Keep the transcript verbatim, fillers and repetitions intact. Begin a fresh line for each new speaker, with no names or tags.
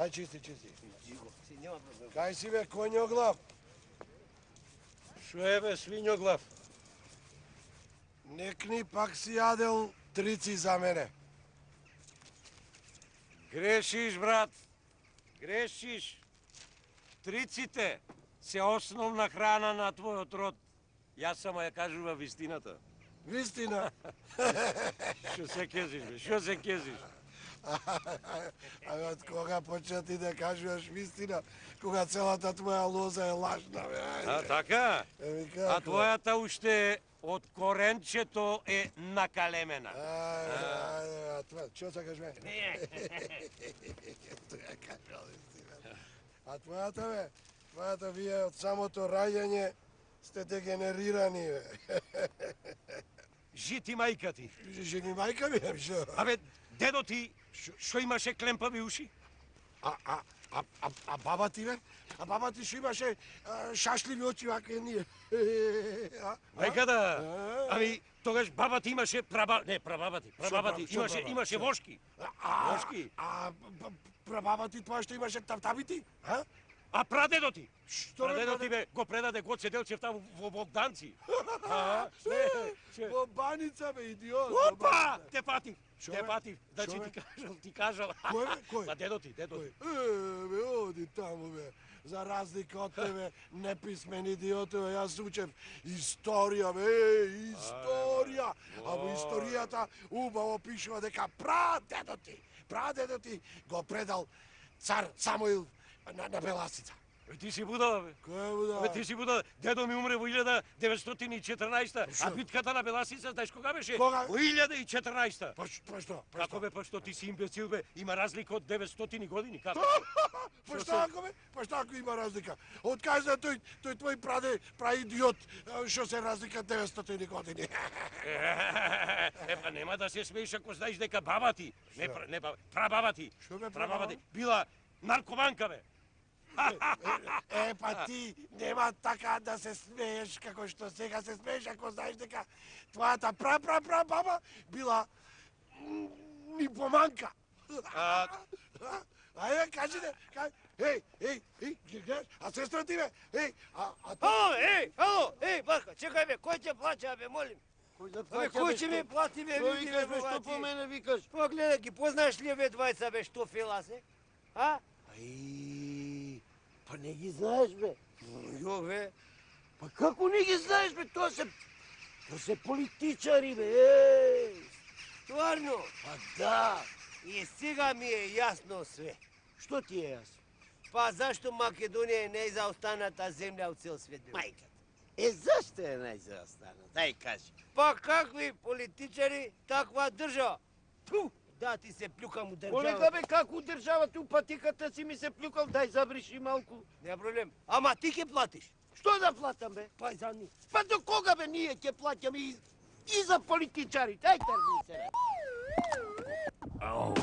Ај чисти, чисти. Кај си бе, конјоглав?
Шо е бе, свињоглав?
Некни пак си јадел трици за мене.
Грешиш, брат. Грешиш. Триците се основна храна на твојот род. Јас само ја кажува вистината.
Вистина?
Шо се кезиш, бе? Шо се кезиш?
А од кога почна ти да кажуваш вистина, кога целата твоја лоза е лажна, бе?
А, така?
Еми
А
како?
твојата уште од коренчето е накалемена.
Ајде, ајде, а това, чо сакаш бе? Тоа кажал вистина. А твојата бе, твојата вие од самото раѓање сте дегенерирани, бе.
Жити мајка ти.
Жени мајка ми, шо?
Абе, дедо ти, шо имаше клемпави уши?
А, а, а, а, а баба ти, бе? А баба ти шо имаше а, шашливи очи, вака ние. А?
Нека да.
А?
Ами, тогаш баба ти имаше праба... Не, прабаба ти. Прабаба ти
Шо
имаше,
прабаба?
имаше
Шо?
вошки.
А,
Вошки.
а, б- прабаба ти тоа што имаше тавтабити? А?
А прадедо ти?
Што бе,
Прадедо ти
праде-
бе го предаде Гоце Делчев таму во Богданци. А, не, че-
Во баница, бе, идиот. во
Опа!
баница.
Те патив.
Шо
Те
бе?
патив. Значи
Шо
ти
бе?
кажал, ти кажал.
Кој бе? Кој?
Па дедо ти, дедо
Кој?
ти.
Е, бе, оди таму, бе. За разлика од тебе, неписмен идиотове, јас учев историја, бе, е, историја. А во историјата убаво пишува дека прадедо ти, прадедо ти го предал цар Самуил на, на Беласица.
Бе, ти си будала, бе.
Кој буда?
Бе, ти си будала. Дедо ми умре во илјада деветстотини и четрнаесета, а
Шо?
битката на Беласица, знаеш кога беше?
Кога?
Во илјада и четрнаесета.
Па, ш- па што? Па
Како
што?
бе, па што ти си имбецил, бе? Има разлика од деветстотини години, како?
Па што ако бе? Па што ако има разлика? Од кај за тој, тој твој праде, праидиот, што се разлика деветстотини години?
Е, па нема да се смееш ако знаеш дека баба ти, не, пра- не баба, прабаба ти,
Шо бе,
прабаба ти,
прабаба?
била наркоманка, бе.
Е, па ти нема така да се смееш како што сега се смееш ако знаеш дека твојата пра-пра-пра баба била м, нимфоманка.
А,
Ајде, кажи де, кажи. Еј, еј, еј, ги гледаш? А сестра ти бе? Еј, а, а ти...
Ало, ей, ало, ей, Барка, чекај бе, кој ќе плаќа бе, молим?
Кој да
Абе, кој ќе ми плати бе,
Што
види
викаш
бе,
бе, што
бати?
по мене викаш?
Па гледај ги, познаеш ли бе двајца бе, што фела се? А?
Ај, па не ги знаеш бе.
Јо бе,
Па како не ги знаеш бе, тоа се... Тоа се политичари бе, еј.
стварно,
Па да.
и сега ми е јасно све.
Што ти е јас?
Па зашто Македонија е најзаостаната земја од цел свет бе?
Мајката. Е, зашто е најзаостана? Дај кажи.
Па какви политичари, таква држава. Ту, да ти се плюкам у
Колега
држава.
бе, како државата у патиката си ми се плюкал, дај забриши малку.
Не проблем. Ама ти ќе платиш.
Што да платам бе?
Па за ни.
Па до кога бе ние ќе плаќаме и, и за политичарите? Ај тргни се.
ау.